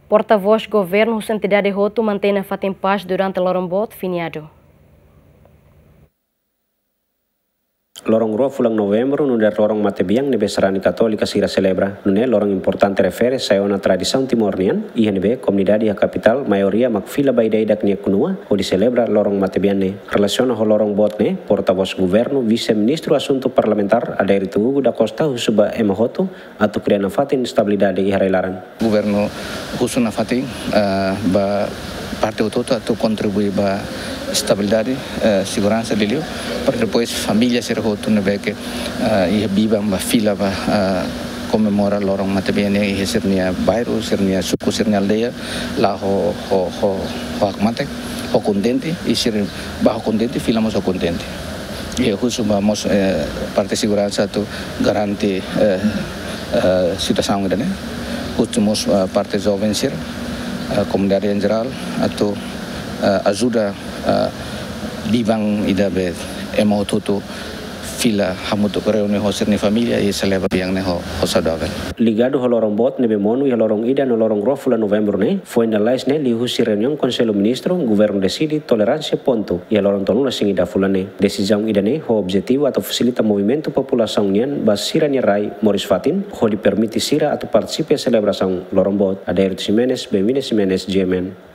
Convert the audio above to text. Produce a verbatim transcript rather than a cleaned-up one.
Porta-vós governu husu entidade hotu mantein nafatin pás durante loron boot feriadu. Loron rua fulan Novembru, nu'udar loron matebian ne'ebé sarani katólika sira selebra, nune'e loron importante refere sai ona tradisaun Timor nian, iha ne'ebé komunidade iha kapitál maioria mak fila ba ida-idak nia knua hodi selebra loron matebian ne'e. Relasiona ho loron boot ne'e, porta-vós governu, vise-ministru asuntu parlamentár, Adérito Hugo da Costa, husu ba ema hotu atu kria nafatin estabilidade iha rai-laran. Governu husu nafatin, eh, ba parte hotu-hotu atu kontribui ba estabilidade, eh, seguransa liuliu, para depois família sira hotu ne'ebé ke, eh, iha biban ba fila ba, eh, komemora loron matebian ne'e iha sira-nia bairru, sira-nia suku, sira-nia aldeia, la'o ho, ho, ho, ho hakmatek, ho kontente, i sira bá ho kontente, fila mós ho kontente. I husu ba mós, eh, parte seguransa atu garante, eh, eh, situasaun ida-ne'e. Husu mós, eh, parte joven sira, eh, komunidade em geral, atu, eh, ajuda, eh, biban ida be ema hotu-hotu fila hamutuk reúne ho sira-nia família i selebra bian ne'e ho, ho saudavel. Ligadu ho loron boot ne'ebé monu iha loron ida no loron rua fulan Novembru ne'e, foin lalais ne'e liuhusi reuniaun Konsellu Ministru, governu deside toleránsia pontu iha loron tolunulu-resin-ida fulan ne'e. Desizaun ida-ne'e ho objetivu atu fasilita movimentu populasaun nian ba sira-nia rai moris fatin, hodi permite sira atu partisipa iha selebrasaun loron boot. Adérito Ximenes, Benvina Ximenes, G M N.